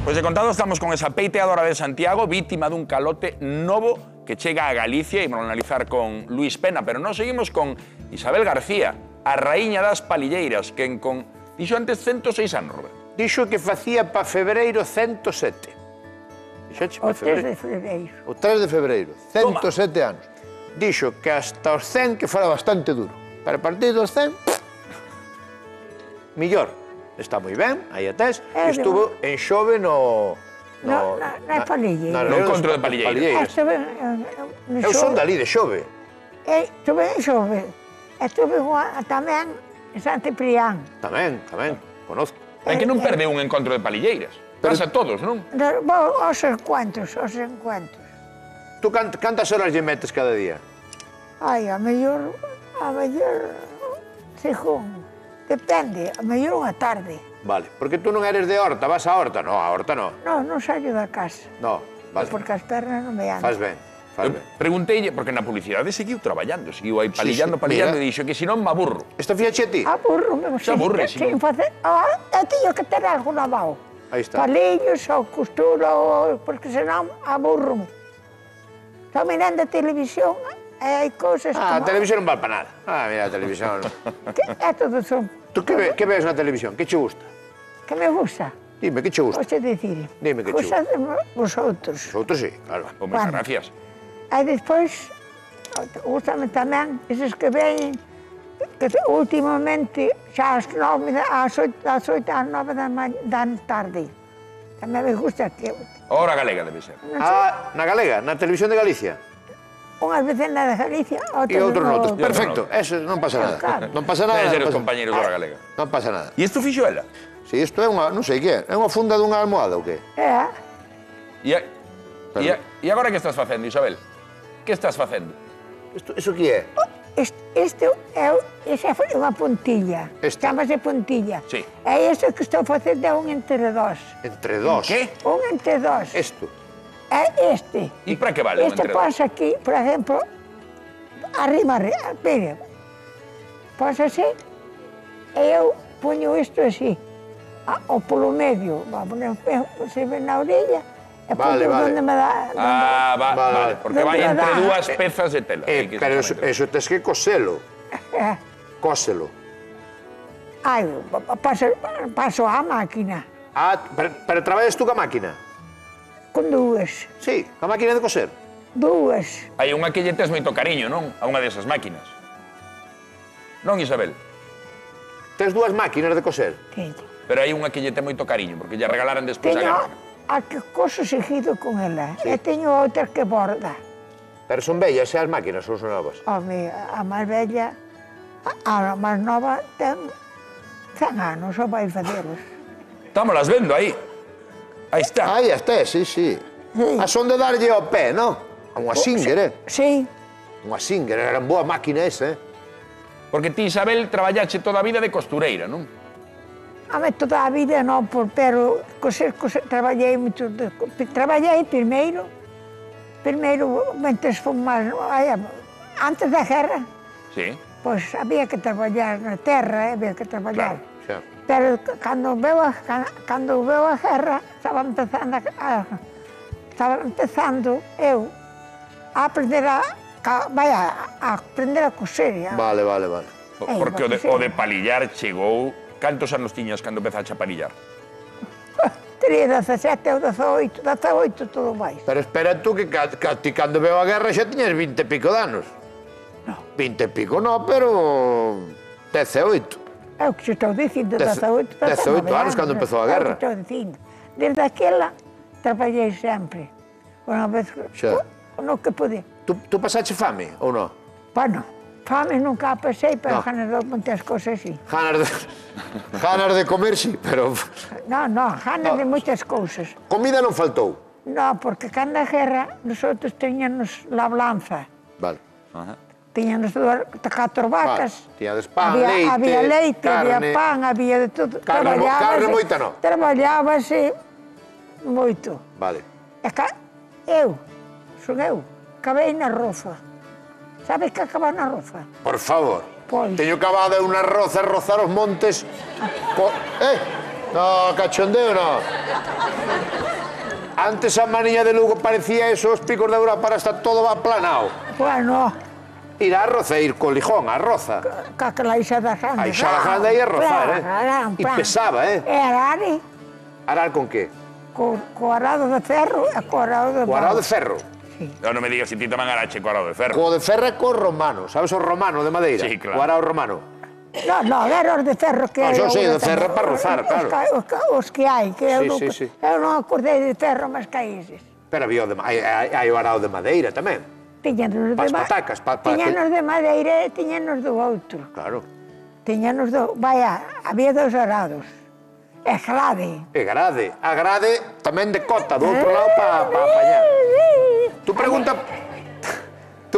Pois de contado estamos con esa peiteadora de Santiago, vítima dun calote novo que chega a Galicia, e vamos a analizar con Luis Pena, pero non seguimos con Isabel García, a raíña das palilleiras, quen con, dixo antes, 106 anos, Roberto. Dixo que facía pa febreiro 107. Dixoche pa febreiro. O 3 de febreiro, 107 anos. Dixo que hasta os 100 que fora bastante duro. Para partir dos 100, millor. Está moi ben, aí atés. Estuvo en Xove no palilleira. No encontro de palilleiras. Eu son dali, de Xove. Estuve en Xove. Estuve tamén en Sant Ciprián. Tamén, conozco. Hai que non perde un encontro de palilleiras. Pasa a todos, non? Os encuentros. Tú cantas horas lle metes cada día? Ai, a mellor, según, depende, a mellor unha tarde. Vale, porque tú non eres de Horta, vas a Horta? No, a Horta no. Non saio da casa. No, vale. Porque as pernas non me andan. Faz ben. Pregunteille, porque na publicidade seguiu traballando, seguiu aí palillando, e dixo que se non me aburro. Esta fíache a ti? Aburro-me, se aburre, si non. Eu teño que ter algo na mão. Aí está. Palillos ou costura, porque senón aburro-me. Estou mirando a televisión e hai cousas a televisión non vale para nada. Mira, a televisión... É todo son... Tú que ves na televisión? Que che gusta? Que me gusta? Dime, que che gusta? Posso dicir. Dime que che gusta. Cosas de vosotros. Vosotros sí, claro. Moitas gracias. E despois, gustame tamén eses que veñen, que últimamente, xa ás 8 ás 9 da tarde. Tamén me gusta que... Hora galega debe ser. Na galega, na televisión de Galicia? Unhas veces na de Galicia, e outros noutros. Perfecto, eso non pasa nada. Non pasa nada. Deben ser os compañeros da hora galega. Non pasa nada. E isto fixo ela? Si, isto é unha, non sei que é unha funda dunha almohada ou que? É. E agora que estás facendo, Isabel? Que estás facendo? Isto que é? Esa é unha puntilla. Chámase puntilla. Sí. E isto que estou facendo é un entredós. Entredós? Que? Un entredós. Isto? É este. E para que vale un entredós? Este pasa aquí, por exemplo, arriba, mire, pasa así, e eu poño isto así, ou polo medio, se ve na orella, e poño onde me dá... Vale, porque vai entre dúas pezas de tela. Pero eso tes que coselo. Cóselo. Ai, paso á máquina. Pero traballas tú ca máquina? Con dúas. Sí, ca máquina de coser? Dúas. Hai unha que lle tes moito cariño, non? A unha desas máquinas. Non, Isabel? Tes dúas máquinas de coser? Teño. Pero hai unha que lle ten moito cariño, porque lle regalaran despois a guerra. A que coso seguido con ela. E teño outra que borda. Pero son bellas as máquinas ou son novas? Home, a máis bella, a máis nova ten 100 anos, só vai facelos. Estámolas vendo aí. Aí está. Aí está, sí. A son de darlle ao pé, non? A unha Singer, Sí. Unha Singer, era boa máquina esa, Porque ti, Isabel, traballache toda a vida de costureira, non? A mí toda a vida non, pero traballei moito. Traballei primeiro, mentres fomos antes da guerra. Sí. Pois había que traballar na terra, había que traballar. Claro, xa. Pero cando veu a guerra, estaba empezando eu a aprender a coser. Vale. Porque o de palillar chegou... Cantos anos tiñas cando empezaste a palillar? Tería 17 ou 18 todo máis. Pero espera tú que ti cando veo a guerra xa tiñas 20 e pico de anos. Non. 20 e pico non, pero... 18. É o que estou dicindo, 18 anos cando empezou a guerra. É o que estou dicindo. Desde aquela traballei sempre. Unha vez, no que podía. Tú pasaste fame ou non? Bueno, fame nunca pasei, pero ganas de moitas cousas sí. Ganas de comer sí, pero... Non, ganas de moitas cousas. Comida non faltou? Non, porque cando a guerra, nosotros teñanos labranza. Vale. Tiñanos 4 vacas. Tiñades pan, leite, había leite, carne. había pan, había de todo. Carne moita non? Traballábase moito. Vale. Son eu, acabei na roza. Sabes que acaba na roza? Por favor. Pois. Teño cavado unha roza, rozar os montes... No, cachondeo no. Antes a Mariña de Lugo parecía eso, os picos de Europa, para estar todo aplanado. Bueno, Ir a roza, ir co lijón, a roza. aquela Ixada Grande. A Ixada Grande aí a rozar, E pesaba, E arare, Arar con qué? co arado de ferro e co arado de Co arado pau. de ferro. No me digas si ti tamén arache co arado de ferro. Co de ferro é co romano, sabes o romano de madeira? Sí, claro. O arado romano. No, era os de ferro que... No, yo sei, eu de ferro para rozar, claro. Os que hai, que eu Sí. eu non acordei de ferro, mas que hai eses. Pero había o de, hai o arado de madeira tamén. Tiñanos Pas patacas, tiñanos de madeira e tiñanos do outro. Claro. Tiñanos do... Vaya, había dos arados. E grade. E grade. A grade tamén de cota, do outro lado para apañar. Tú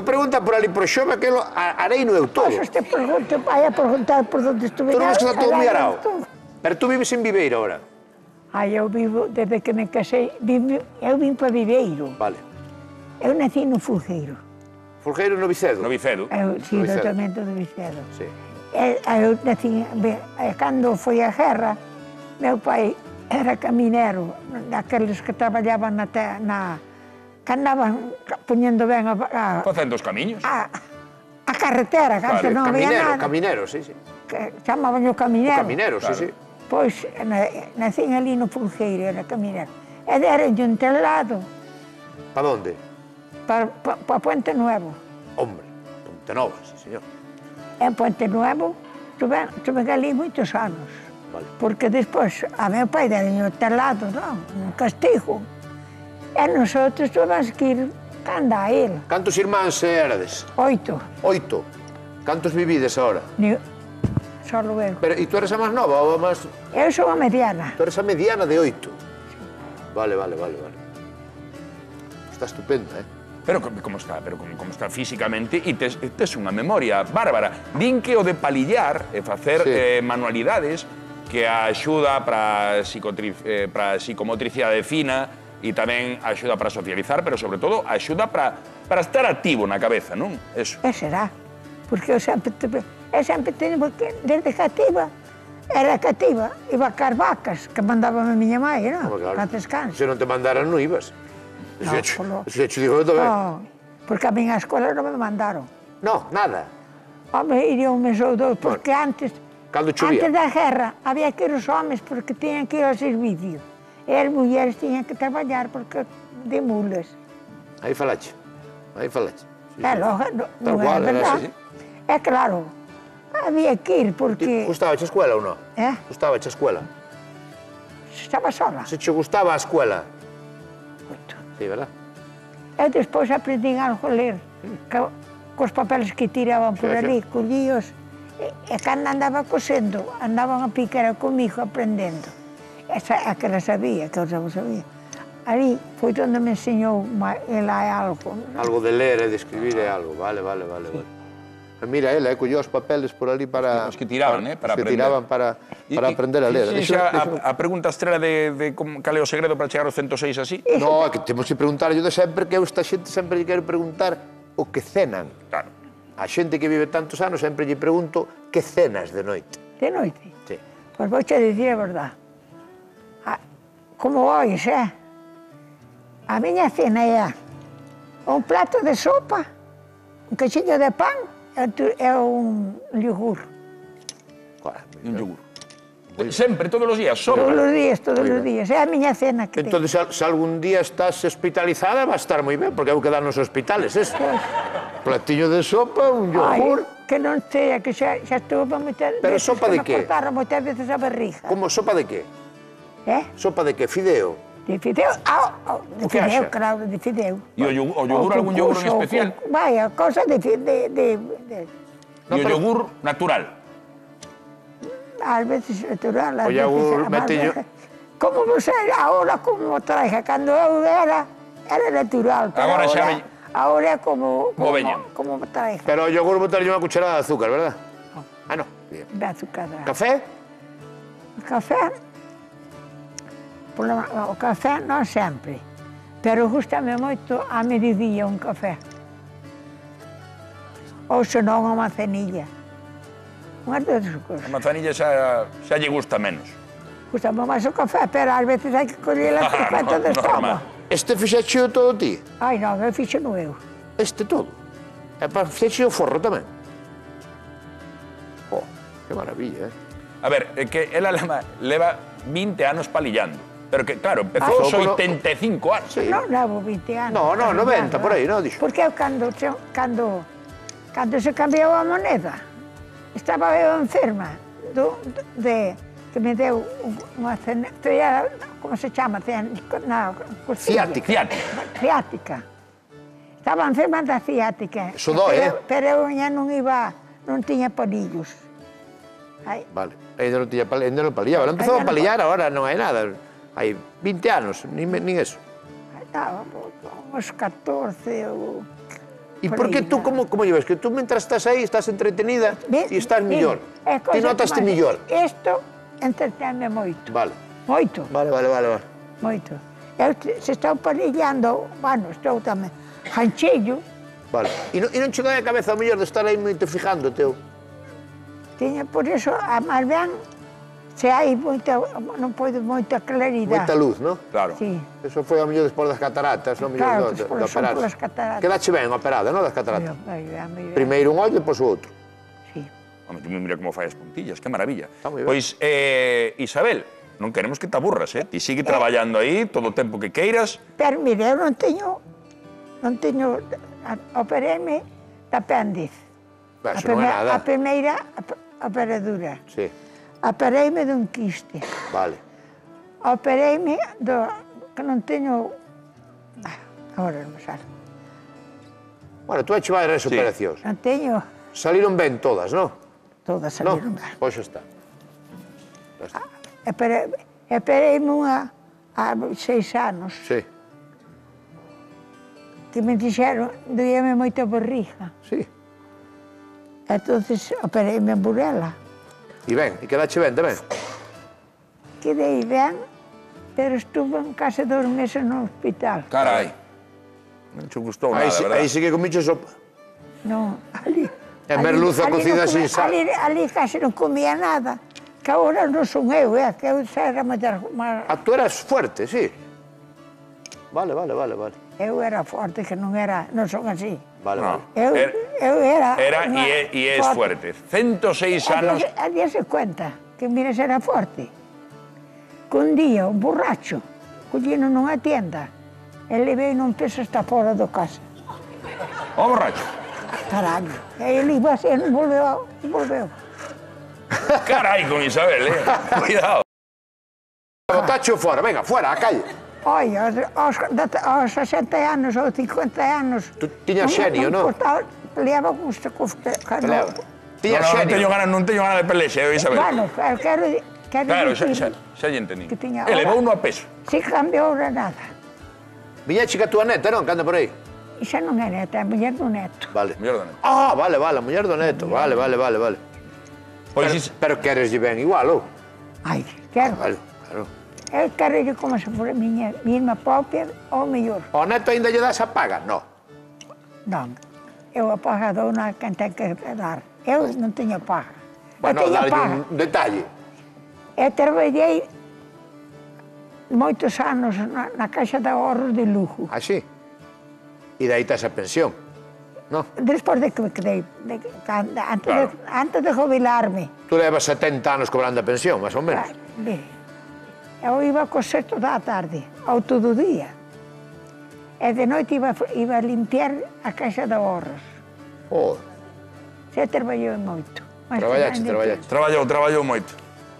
pregunta por ali por xome, aquelo areino eu todo. Pois te pregunto, vai a preguntar por onde estuve. Tú non ves que está todo moi arado. Pero tú vives en Viveiro ahora. Eu vivo, desde que me casei, eu vim para Viveiro. Vale. Eu nací no Fulgueiro. Fulgueiro no Vicedo. No Vicedo. Sí, No no Vicedo. tormento do Vicedo. Sí. Eu nací, cando foi a guerra, meu pai era caminero, daqueles que traballaban que andaban poñendo ben Facendo os camiños. a carretera, que antes non había nada. Caminero, sí. Que chamaban o caminero. Caminero, sí. Pois nacín ali no Fulgueiro, era caminero. E deronlle un telado Pa onde? para Puente Nuevo. Hombre, Ponte Nova, sí, señor. En Puente Nuevo tuve ali moitos anos. Vale. Porque despois a meu pai deronlle o telado, non, un castigo. E nosotros tuvemos que ir canda a ele. Cantos irmáns erades? 8. 8. Cantos vivides ahora? Solo eu. Pero, e tú eres a máis nova ou a máis... Eu sou a mediana. Tú eres a mediana de 8. Vale. Está estupenda, Pero como está físicamente e tes unha memoria bárbara. Din que o de palillar e facer Sí. manualidades que axuda para psicomotricidade fina e tamén axuda para socializar, pero sobre todo axuda para estar activo na cabeza, non? Eso. E será. Porque eu sempre teño, porque desde cativa, era cativa, iba a car vacas, que mandaba a miña mãe, non? Para descanso. Se non te mandaran, non ibas. No, Se te digo eu tamén. No, porque a miña escola non me mandaron. No, nada. Home, iría un mes ou dous, porque antes da guerra había que ir os homes porque tiñan que ir ao servicio. E as mulleres tiñan que traballar porque de mulas. Aí falache. Sí, Logo, non é verdade. É claro, había que ir porque... Gustaba a escuela ou non? Gustaba a escuela? Estaba sola. Se che gustaba a escuela? Moito. Sí, verdad? E despois aprendín algo a ler, cos papeles que tiraban por ali, collíos, e cando andaba cosendo, andaban a picar comigo aprendendo. Esa que la sabía, que eu non sabía. Ali foi onde me enseñou ela algo. Algo de ler e de escribir é algo, vale. Mira, ela colleu os papeles por ali para... Os que tiraban, para aprender. Que tiraban para aprender a ler. A pregunta estrela de cal é o segredo para chegar aos 106 así? No, é que temos que preguntarlle de sempre, que eu esta xente sempre lle quero preguntar o que cenan. Claro. A xente que vive tantos anos sempre lle pregunto que cenas de noite. De noite? Sí. Pois vou che dicir a verdade. Como ois, a miña cena é un plato de sopa, un cachiño de pan e un yogur. Un yogur. Sempre, todos os días, só. Todos os días. É a miña cena que Entón, se algún día estás hospitalizada, va a estar moi ben, porque hai que dar nos hospitales, eso. Platiño de sopa, un yogur... Que non sei, que xa estuvo para moitas veces... Pero sopa de que? Me cortaron moitas veces a barriga. Como, sopa de que? Sopa de que? Fideo? De fideo, de fideo, claro, de fideo. E o yogur, algún yogur en especial? Vaya, cosa de... E o yogur natural? Ás veces natural, O ás yogur veces... metillo... Como você, ahora como traje, cando eu era natural. Agora xa veño... Ahora é como veñen. Como traje. Pero o yogur botarlle unha cucharada de azúcar, verdad? No. De azúcar. Café? Café? O café non sempre, pero gustame moito a mediodía un café. Ou senón a manzanilla. Unhas dúas cousas. A manzanilla xa lle gusta menos. Gustame máis o café, pero ás veces hai que coller a perfecta de normal. estómago. Este fixeche todo ti? Ai, non, eu fixo no eu. Este todo? E para fixeche o forro tamén? Oh, que maravilla, A ver, é que ela leva 20 anos palillando. Pero que, claro, empezou aos 85 anos. Sí. Non levo 20 anos. No, 90, por aí, non, dixo. Porque eu cando se cambiou a moneda, estaba eu enferma que me deu unha como se chama? Na costilla. Ciática. Estaba enferma da ciática. Eso dói, Pero eu non tiña palillos. Ai. Vale, ainda non palillaba. Non empezou a palillar, agora non hai nada. Hai 20 anos, nin eso. Estaba uns 14 ou... E por que tú, como llevas? Que tú, mentras estás aí, estás entretenida e estás millor. Ti notaste millor. Isto entretenme moito. Vale. Moito. Vale. Moito. Eu se estou palillando, bueno, estou tamén janchillo. Vale. E non che dai a cabeza o mellor de estar aí moito fijando, teu? Tiña, por iso, a máis ben, se hai moita, non pode moita claridade. Moita luz, non? Claro. Sí. Eso foi ao mellor despois das cataratas, non? Claro, De despois son operar. polas cataratas. Quedache ben operada, non, das cataratas? Moi ben. Primeiro un ollo e depois o outro. Sí. Home, tú mira como fai as puntillas, que maravilla. Está moi ben. Pois, Isabel, non queremos que te aburras, Ti sigue traballando aí todo o tempo que queiras. Pero, mire, eu non teño, operéme de apéndice. Eso non é nada. A primeira operadura. Sí, Opereime dun quiste. vale. Opereime que non teño... Agora non me sale. Bueno, tú hecho varias operacións. Non teño... Saliron ben todas, non? Todas Non? saliron ben. Pois xa está. Opereime unha há 6 anos. Sí, Que me dixeron, doíame moita barriga. sí. Entonces opereime en Burela. E ben, e quedache ben tamén? Quedei ben, pero estuve en case 2 meses no hospital. Carai. Non che gustou nada, verdad? Aí sí que comiche sopa. Non, ali... En merluza cocida sin sal. Ali case non comía nada. Que agora non son eu, que eu xa era máis... Ah, tú eras fuerte, sí. Vale. Eu era forte, que non son así. Vale. Eu era... Era e é fuerte. 106 anos. A día se cuenta que, mira, se era forte. Que un día, un borracho, collino nunha tienda, e levei non peso hasta fora do casa. O borracho. Caralho. E ele iba así, non volveu. Carai con Isabel, Cuidado. Botacho fora, venga, fora, a calle. Olha, aos 60 anos ou 50 anos... Tú tiñas xenio, non? Peleaba con os... Tiñas xenio. Non teño gana de pelexe, Isabel. Bueno, pero quero Claro, dicir xa lle entendí. que tiña Elevou ahora- uno a peso. Si cambiou de nada. Viñeche que a túa neta, non? Que anda por aí. E xa non é neta, é muller do neto. Vale. Mellor do neto. Ah, vale, a muller do neto. Vale. Pois Pero quereslle ben igual, ou? Ai, quero. Vale, claro. Eu quero como se fora miña irmã propia ou mellor. Ao neto ainda lle das a paga? No. Non, eu a paga dou na quen ten que dar. Eu non teño paga. Bueno, eu teño darlle paga. un detalle. Eu traballei moitos anos na Caixa de Ahorros de Lugo. Así. E dai tas a pensión. No. Despois de que me quedei, Claro. antes de jubilarme. Tú levas 70 anos cobrando a pensión, máis ou menos. Eu iba co sexto da tarde, ao todo o día. E de noite iba a limpiar a Caixa de Ahorros. Oh, Se traballou moito. traballaste. Traballou moito.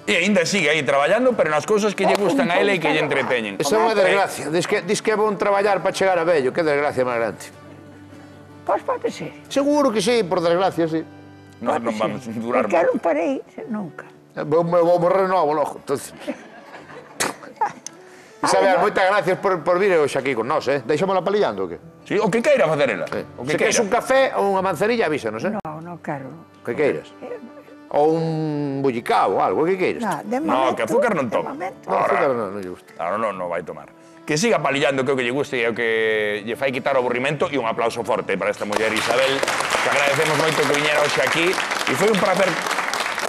E ainda sigue aí traballando, pero nas cousas que lle gustan a ele e que lle entreteñen. esa é unha desgracia. Dis que é bon traballar para chegar a vello. Que desgracia máis grande. Pois pode ser. Seguro que sí, por desgracia, sí. Non vamos a durar Porque eu moito. non parei nunca. Vou morrer novo logo, entonces. Isabel, moitas gracias por vir hoxe aquí con nós, Deixámola palillando, o que? Sí, o que queira facer ela. O que Se queres un queira. café ou unha manzanilla, avísanos, Non quero. Que queiras. Ou un bullicao ou algo, que queiras. De No, momento, que azúcar non de toma. momento. No, azúcar non lle gusta. Claro, non vai tomar. Que siga palillando, que é o que lle guste e o que lle fai quitar o aburrimento, e un aplauso forte para esta muller Isabel, que agradecemos moito que viñera hoxe aquí, e foi un placer